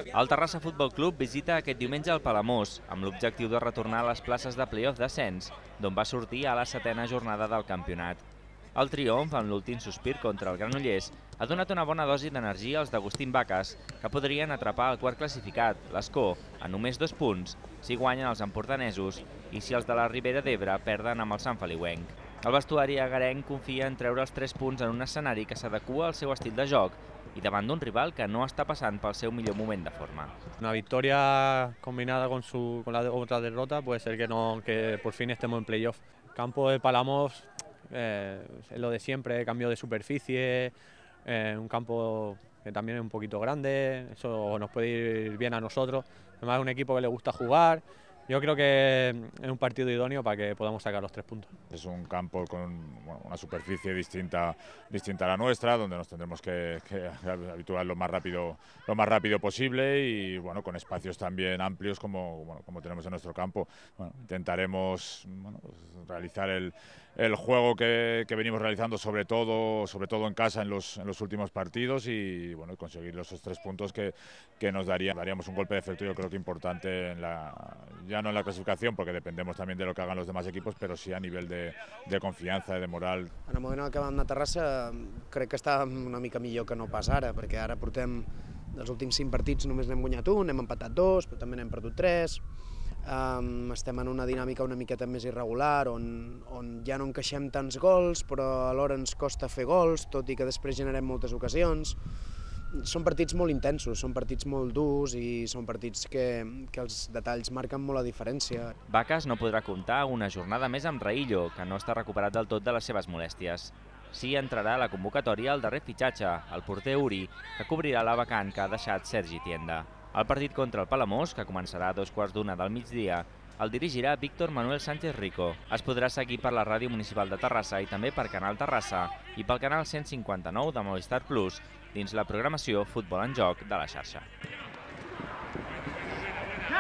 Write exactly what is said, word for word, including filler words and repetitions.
El Terrassa Futbol Club visita aquest diumenge el Palamós, amb l'objectiu de retornar a les places de play-off d'ascens, d'on va sortir a la setena jornada del campionat. El triomf, en l'últim sospir contra el Granollers, ha donat una bona dosi d'energia als d'Agustín Vacas, que podrien atrapar el quart classificat, l'Escó, a només dos punts, si guanyen els empordanesos i si els de la Ribera d'Ebre perden amb el Sant Feliuenc. El vestuari agarenc confia en treure els tres punts en un escenari que s'adequa al seu estil de joc y davant d'un rival que no està passant pel seu millor moment de forma. Una victoria combinada con, su, con la otra derrota puede ser que, no, que por fin estemos en playoff. Campo de Palamos eh, es lo de siempre, cambio de superficie, eh, un campo que también es un poquito grande, eso nos puede ir bien a nosotros. Además es un equipo que le gusta jugar. Yo creo que es un partido idóneo para que podamos sacar los tres puntos. Es un campo con bueno, una superficie distinta, distinta a la nuestra, donde nos tendremos que, que habituar lo más rápido, lo más rápido posible y bueno, con espacios también amplios como, bueno, como tenemos en nuestro campo. Bueno, intentaremos bueno, pues, realizar el, el juego que, que venimos realizando, sobre todo, sobre todo en casa en los, en los últimos partidos y bueno, conseguir esos tres puntos que, que nos darían, daríamos un golpe de efecto, yo creo que importante en la ya no en la clasificación, porque dependemos también de lo que hagan los demás equipos, pero sí a nivel de, de confianza, de moral. En el moment en què vam anar a Terrassa crec que estàvem una mica millor que no pas ara, perquè ara portem dels últims cinc partits només n'hem guanyat un, hem empatat dos, però també n'hem perdut tres. Um, estem en una dinàmica una miqueta més irregular, on, on ja no encaixem tants gols, però alhora ens costa fer gols, tot i que després generem moltes ocasions. Són partits molt intensos, són partits molt durs i són partits que, que els detalls marquen molt la diferència. Vacas no podrà comptar una jornada més amb Raillo, que no està recuperat del tot de les seves molèsties. Sí entrarà a la convocatòria el darrer fitxatge, el porter Uri, que cobrirà la vacant que ha deixat Sergi Tienda. El partit contra el Palamós, que començarà a dos quarts d'una del migdia, el dirigirà Víctor Manuel Sánchez Rico. Es podrà seguir per la ràdio municipal de Terrassa i també per Canal Terrassa i pel canal cent cinquanta-nou de Movistar Plus, dins la programació Futbol en Joc de la xarxa.